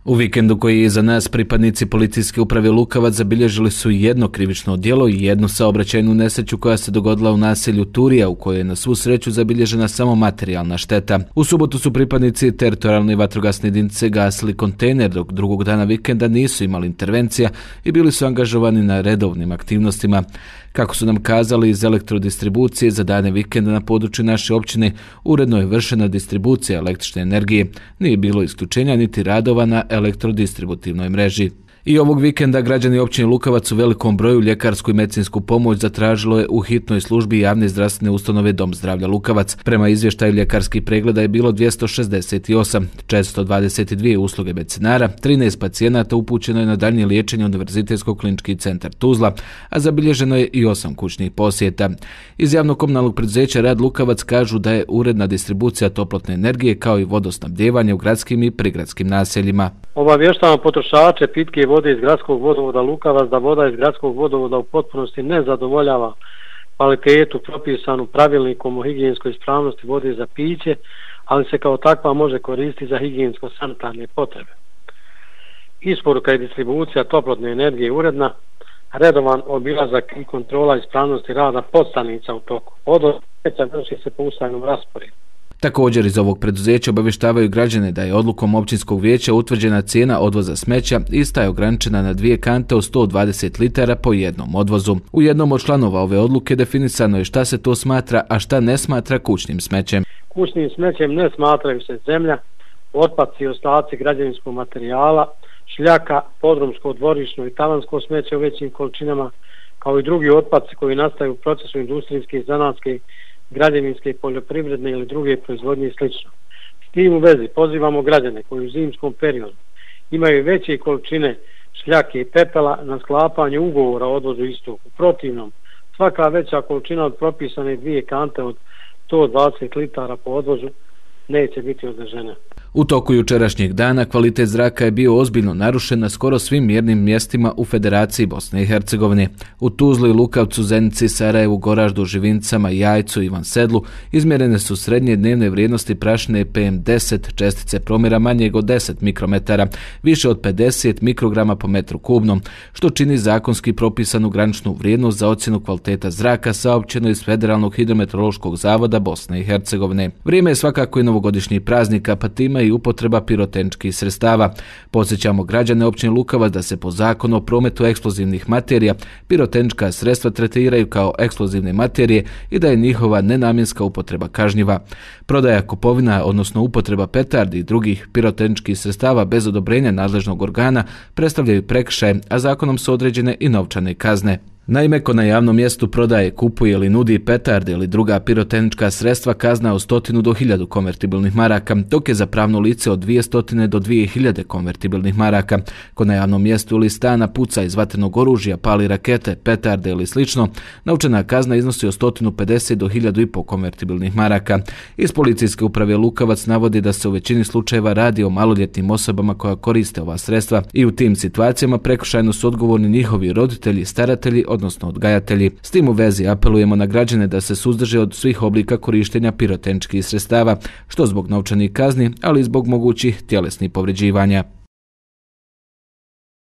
U vikendu koji je iza nas pripadnici policijske uprave Lukavac zabilježili su jedno krivično djelo i jednu saobraćajnu nesreću koja se dogodila u naselju Turija, u kojoj je na svu sreću zabilježena samo materijalna šteta. U subotu su pripadnici teritorijalne vatrogasne jedinice gasili kontejner, dok drugog dana vikenda nisu imali intervencija i bili su angažovani na redovnim aktivnostima. Kako su nam kazali iz elektrodistribucije, za dane vikenda na području naše općine uredno je vršena distribucija električne energije. Nije bilo isključenja niti radova na elektrodistributivnoj mreži. I ovog vikenda građani općine Lukavac u velikom broju ljekarsku i medicinsku pomoć zatražilo je u hitnoj službi javne zdravstvene ustanove Dom zdravlja Lukavac. Prema izvještaju ljekarskih pregleda je bilo 268, 422 usluge medicinara, 13 pacijenata upućeno je na daljnje liječenje Univerzitetskog klinički centar Tuzla, a zabilježeno je i 8 kućnih posjeta. Iz javnog komunalnog preduzeća Rad Lukavac kažu da je uredna distribucija toplotne energije kao i vodosnabdijevanje u gradskim i prigradskim naseljima. Obavještavamo potrošače pitke vode iz gradskog vodovoda Lukavac da voda iz gradskog vodovoda u potpunosti ne zadovoljava kvalitetu propisanu pravilnikom o higijenskoj ispravnosti vode za piće, ali se kao takva može koristiti za higijensko-sanitarne potrebe. Isporuka i distribucija toplotne energije uredna, redovan obilazak i kontrola ispravnosti rada podstanica u toku. Odvoz smeća vrši se po ustaljenom rasporedu. Također iz ovog preduzeća obavještavaju građane da je odlukom općinskog vijeća utvrđena cijena odvoza smeća, ista je ograničena na 2 kante od 120 litara po jednom odvozu. U jednom od članova ove odluke definisano je šta se to smatra, a šta ne smatra kućnim smećem. Kućnim smećem ne smatraju se zemlja, otpaci i ostaci građevinskog materijala, šljaka, podrumsko, dvorišno i tavansko smeće u većim količinama, kao i drugi otpaci koji nastaju u procesu industrijske, zanatske, građevinske, poljoprivredne ili druge proizvodnje i sl. S tim u vezi pozivamo građane koji u zimskom periodu imaju veće količine šljake i pepela na sklapanje ugovora o odvozu istog. U protivnom, svaka veća količina od propisane 2 kante od 120 litara po odvozu neće biti održena. U toku jučerašnjeg dana kvalitet zraka je bio ozbiljno narušen na skoro svim mjernim mjestima u Federaciji Bosne i Hercegovine. U Tuzli, Lukavcu, Zenici, Sarajevu, Goraždu, Živincama, Jajcu i Ivan Sedlu izmjerene su srednje dnevne vrijednosti prašine PM10, čestice promjera manjeg od 10 mikrometara, više od 50 mikrograma po metru kubnom, što čini zakonski propisanu graničnu vrijednost za ocjenu kvaliteta zraka saopćeno iz Federalnog hidrometeorološkog zavoda Bosne i Hercegovine. Vrijeme je svakako i novogodišnjih praznika, pa time i upotreba pirotehničkih sredstava. Podsjećamo građane općine Lukavac da se po zakonu o prometu eksplozivnih materija pirotehnička sredstva tretiraju kao eksplozivne materije i da je njihova nenamjenska upotreba kažnjiva. Prodaja, kupovina, odnosno upotreba petardi i drugih pirotehničkih sredstava bez odobrenja nadležnog organa predstavljaju prekršaj, a zakonom su određene i novčane kazne. Naime, ko na javnom mjestu prodaje, kupuje ili nudi petarde ili druga pirotehnička sredstva, kazna od 100 do 1000 konvertibilnih maraka, dok je za pravno lice od 200 do 2000 konvertibilnih maraka. Ko na javnom mjestu ili stana puca iz vatrenog oružja, pali rakete, petarde ili slično, novčana kazna iznosi od 150 do 1500 konvertibilnih maraka. Iz policijske uprave Lukavac navodi da se u većini slučajeva radi o maloljetnim osobama koja koriste ova sredstva i u tim situacijama prekršajno su odgovorni njihovi roditelji, staratelji, odnosno odgajatelji. S tim u vezi apelujemo na građane da se suzdrže od svih oblika korištenja pirotehničkih sredstava, što zbog novčanih kazni, ali i zbog mogućih tjelesnih povređivanja.